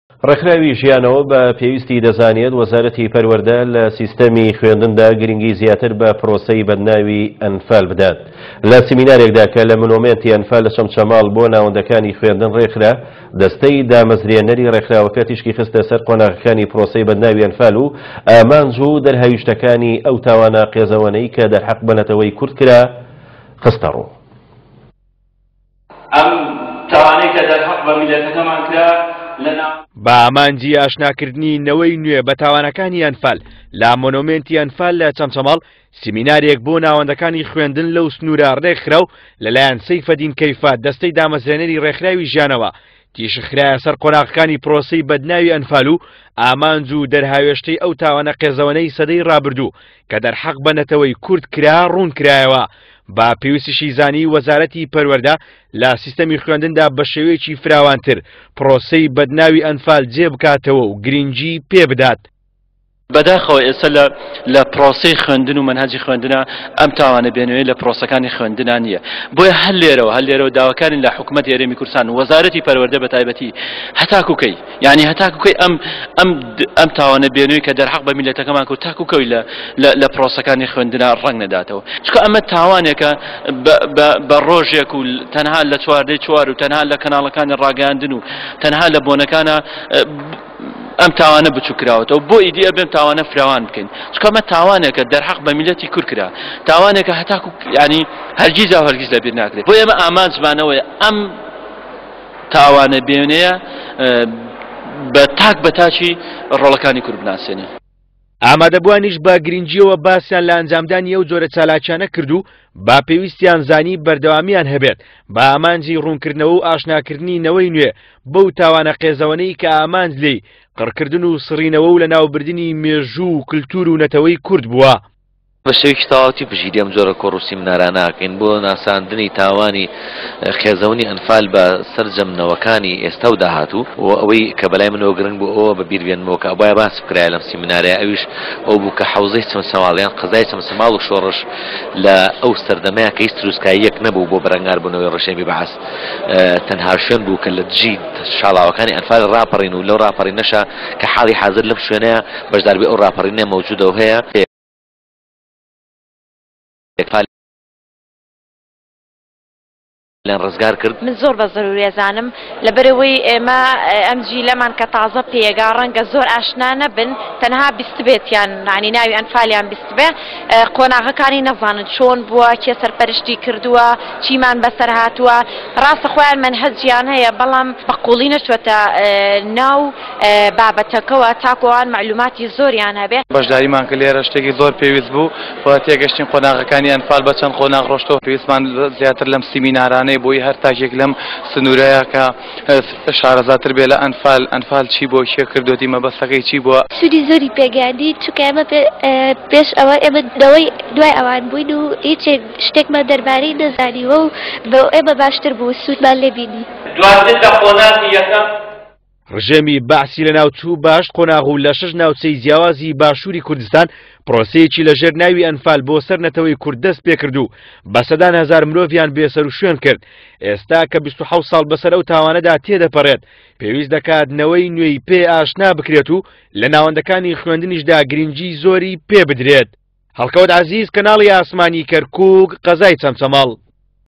ڕێکخراوی ژیانەوە بە پێویستی دەزانێت وەزارەتی پەروەردە لە سیستەمی خوێندندا گرنگی زیاتر بە پرۆسەی بەدناوی ئەنفال بدات. لە سیمینارێکدا کە لە مونۆمێنتی ئەنفال لە چەمچەماڵ بۆ ناوەندەکانی خوێندن ڕێکخرا، دەستەی دامەزرێنەری ڕێکخراوەکە تیشکی خستە سەر قۆناغەکانی پرۆسەی بەدناوی ئەنفال و ئامانج و دەرهاویشتەکانی ئەو تاوانە قێزەوەنەی کە دەرحەق بە نەتەوەی کورد کرا خستەڕوو. ئەم تاوانەی کە دەرهەق بە میللەتەکەمان کرا لە ناو. بە ئامانجی ئاشناکردنی نەوەی نوێ بە تاوانەکانی ئەنفال لە مۆنۆمێنتی ئەنفال لە چەمچەماڵ سیمینارێک بۆ ناوەندەکانی خوێندن لەو سنوورە ڕێکخرا و لەلایەن سەیفەدین کەیفە دەستەی دامەزرێنەری ڕێکخراوی ژیانەوە تیشک خرایە سەر قۆناغەکانی پرۆسەی بەدناوی ئەنفال و ئامانج و دەرهاوێشتەی ئەو تاوانە قێزەوەنەی سەدەی ڕابردوو کە دەرحەق بە نەتەوەی کورد کرا ڕوون کرایەوە. بە پێویستیشی زانی وەزارەتی پەروەردە لە سیستەمی خوێندندا بە شێوەیەکی فراوانتر پرۆسەی بەدناوی ئەنفال جێ بکاتەوە و گرنگی پێ بدات. بەداخەوە ئێستا لە لە پرۆسەی خوێندن و مەنهەجی خوێندنا ئەم تاوانە بێنوێ لە پرۆسەکانی خوێندنا نییە بۆیە هەر لێرەوە هەر لێرەوە داواکارین لە حکومەتی هەرێمی کوردستان و وەزارەتی پەروەردە بە تایبەتی هەتاکو کەی یعنی هەتاکو کەی ئەم ئەم ئەم تاوانە بێنوێ کە دەرحەق بە میلەتەکەمان کرد تاکو کەی لە لە پرۆسەکانی خوێندنا ڕەنگ نەداتەوە چونکە ئەمە تاوانێکە بە ڕۆژێک و تەنها لە چواردەی چوار و تەنها لە کەناڵەکانی ڕاگەیاندن و تەنها لە بۆنەکانە ئەم تاوانە بچوک کراوەتەوە بۆ ئیدی ئەبێ ئەم تاوانە فراوان بکەین چونکە ئەمە تاوانێکە دەرحەق بە میلەتی کورد کرا تاوانێکە هەتاکو ینی هەرگیز و هەرگیز لەبیر ناکرێت بۆ ئێمە ئامانجمانەوەیە ئەم تاوانە بێنەیە بە تاک بە تاکی ڕۆڵەکانی کورد بناسێنین. ئامادەبووانیش بە گرنگییەوە باسیان لە ئەنجامدانی ئەو جۆرە چالاکیانە کرد و بە پێویستیان زانی بەردەوامیان هەبێت بە ئامانجی ڕوونکردنەوە و ئاشناکردنی نەوەی نوێ بەو تاوانە قێزەوەنەی کە ئامانج لێی قڕکردن و سڕینەوە و لەناوبردنی مێژوو و کلتور و نەتەوەی کورد بووە. بە شێوەیەکی تەواوەتی پشتگیری ئەم جۆرە کۆڕ و سیمنارانە ئەکەین بۆ ناساندنی تاوانی قێزەونی ئەنفال بە سەرجەم نەوەکانی ئێستا و داهاتوو و ئەوەی کە بەلای منەوە گرنگ بوو ئەوە بە بیر بێنمەوە کە ئەبوایە باس بکرایە لەم سیمنارەیا ئەویش ئەو بوو کە حەوزەی چەمچەماڵ یان قەزای چەمچەماڵ و شۆڕش لە ئەو سەردەمەیا کە هیچ تروسکاییەک نەبوو بۆ بەرەنگاربوونەوەی ڕژێمی بەعس تەنها شوێن بوو کە لە دژی شاڵاوەکانی ئەنفال ڕاپەڕین و لەو ڕاپەڕینەشا کە حاڵی حازر لەم شوێنەیە بەشداربووی ئەو ڕاپەڕینە مەوجودە و هەیە. ئەنفالیان ڕزگار کرد. من زۆر بە زەروری ئەزانم لەبەرئەوەی ئێمە ئەم جیلەمان کە تازە پێیەگا ڕەنگە زۆر ئاشنا نەبن تەنها بیستبێتیان یانی ناوی ئەنفالیان بیستبێ قۆناغەکانی نەزانن چۆن بووە کێ سەرپەرشتی کردووە چیمان بەسەر هاتووە ڕاستە خۆیان مەنهەجیان هەیە بەڵام بە قوڵی نەچووەتە ناو بابەتەکەوە تاکو ئەوان مەعلوماتی زۆریان هەبێ. بەشداریمان کرد لێرە شتێکی زۆر پێویست بوو و تێگەشتین قۆناغەکانی ئەنفال بە چەند قۆناغ ڕۆشتەوە پێویستمان زیاتر لەم سیمینارانەی بۆی هەر تاکێک لەم سنوورەیە کە شارەزاتر بێ لە ئەنفال ئەنفال چی بووە کێ کردوێتی مەبەستەکەی چی بووە. سوودی زۆری پێگەیاندین چونکە ئێمە پێش ئەوە ئێمە نەوەی دوای ئەوان بووین و هیچ شتێکمان دەربارەی نەزانیوە و بۆ ئێمە باشتر بوو سوودمان لێ بینی. دواتر لە قۆناغی یەکەم. ڕژێمی بەعسی لەناوچوو بە هەشت قۆناغ و لە شەش ناوچەی جیاوازی باشووری کوردستان پرۆسەیەکی لەژێر ناوی ئەنفال بۆ سەر نەتەوەی کورد دەست پێکرد و بە سەدان هەزار مرۆڤیان بێسەروشوێن کرد. ئێستا کە 27 ساڵ بەسەر ئەو تاوانەدا تێدەپەڕێت، پێویست دەکات نەوەی نوێی پێ ئاشنا بکرێت و لە ناوەندەکانی خوێندنیشدا گرنگی زۆری پێ بدرێت. هەڵکەوت عەزیز، کەناڵی ئاسمانی کەرکووک، قەزای چەمچەماڵ.